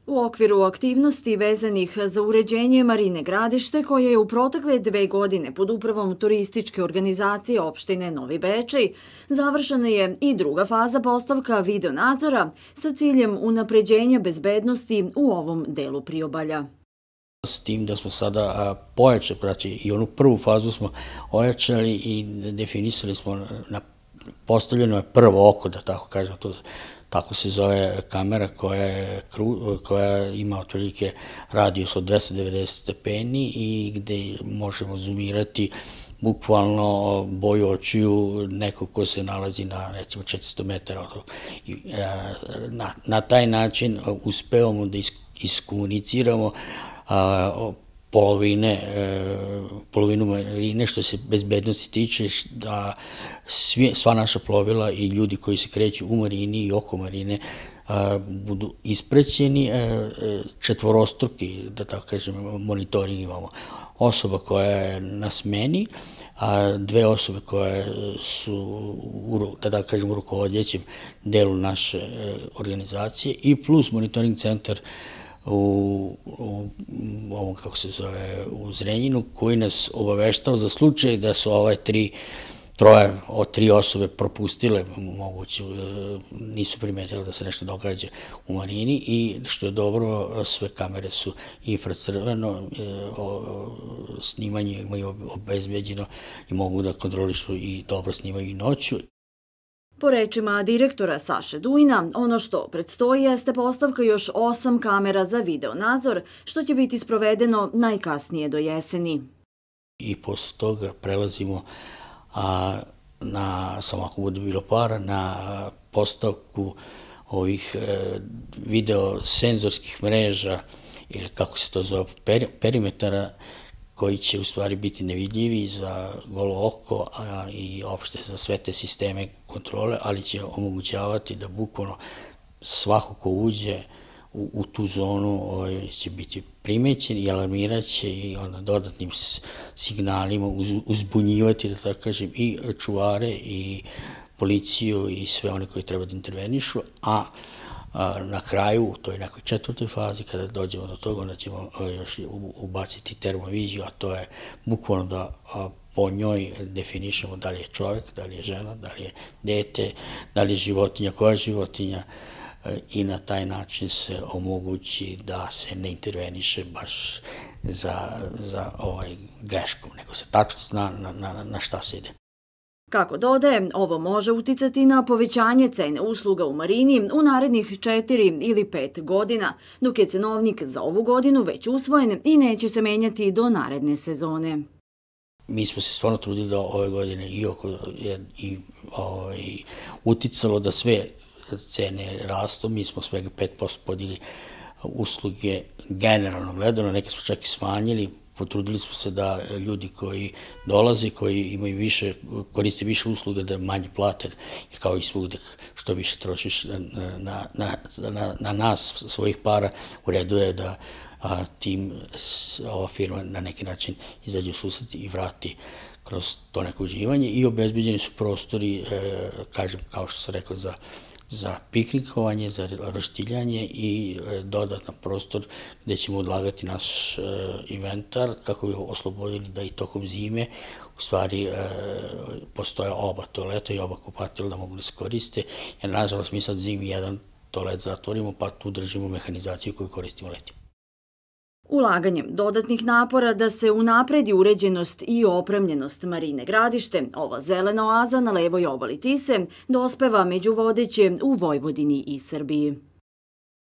U okviru aktivnosti vezanih za uređenje Marine Gradište, koje je u protekle 2 godine pod upravom turističke organizacije opštine Novi Bečej, završena je i druga faza postavka videonadzora sa ciljem unapređenja bezbednosti u ovom delu priobalja. S tim da smo sada pojačali, znači i onu prvu fazu smo ojačali i definisali smo, postavljeno je prvo oko, da tako kažem, tako se zove kamera koja ima otprilike radijus od 290 stepeni i gde možemo zoomirati bukvalno boju očiju nekog ko se nalazi na recimo 400 metara. Na taj način uspevamo da iskomuniciramo polovinu marine što se bezbednosti tiče, da sva naša plovila i ljudi koji se kreću u marini i oko marine budu ispraćeni. Četvorostruki, da tako kažem, monitoring imamo. Osoba koja je na smeni, a 2 osobe koje su, da tako kažem, u rukovodećem delu naše organizacije i plus monitoring centar u ovom, kako se zove, u Zrenjinu, koji nas obaveštao za slučaj da su troje od 3 osobe propustile, moguće, nisu primetili da se nešto događa u marini i što je dobro, sve kamere su infracrveno, snimanje imaju obezbeđeno i mogu da kontrolišu i dobro snimaju i noću. Po rečima direktora Saše Dujna, ono što predstoji jeste postavka još 8 kamera za videonadzor, što će biti sprovedeno najkasnije do jeseni. I posle toga prelazimo samo ako bude bilo para, na postavku ovih videosenzorskih mreža ili kako se to zove, perimetara, koji će u stvari biti nevidljivi za golo oko i opšte za sve te sisteme kontrole, ali će omogućavati da bukvalno svako ko uđe u tu zonu će biti primećen i alarmiraće i onda dodatnim signalima uzbunjivati, da tako kažem, i čuvare i policiju i sve one koji treba da intervenišu, a na kraju, u toj nekoj 4. fazi, kada dođemo do toga, onda ćemo još ubaciti termoviziju, a to je bukvalno da po njoj definišemo da li je čovek, da li je žena, da li je dete, da li je životinja, koja je životinja, i na taj način se omogući da se ne interveniše baš za greškom, nego se tačno zna na šta se ide. Kako dodaje, ovo može uticati na povećanje cene usluga u marini u narednih 4 ili 5 godina, dok je cenovnik za ovu godinu već usvojen i neće se menjati do naredne sezone. Mi smo se stvarno trudili da ove godine i uticalo da sve cene rastu, mi smo svega 5% podijeli usluge generalno gledano, neke smo čak i smanjili. Potrudili smo se da ljudi koji dolaze, koji imaju više, koriste više usluga, da manje plate, jer kao i svugde što više trošiš na nas, svojih para, u redu je da ova firma na neki način izađe u susret i vrati kroz to neko uživanje i obezbeđeni su prostori, kažem, kao što sam rekao, za piknikovanje, za roštiljanje i dodatan prostor gde ćemo odlagati naš inventar kako bi oslobodili da i tokom zime u stvari postoje oba toaleta i oba kupatila da mogu da se koriste, jer nažalost mi sad zimi jedan toalet zatvorimo pa tu držimo mehanizaciju koju koristimo leti. Ulaganjem dodatnih napora da se unapredi uređenost i opremljenost Marine Gradište, ova zelena oaza na levoj obali Tise dospeva među vodeće u Vojvodini i Srbiji.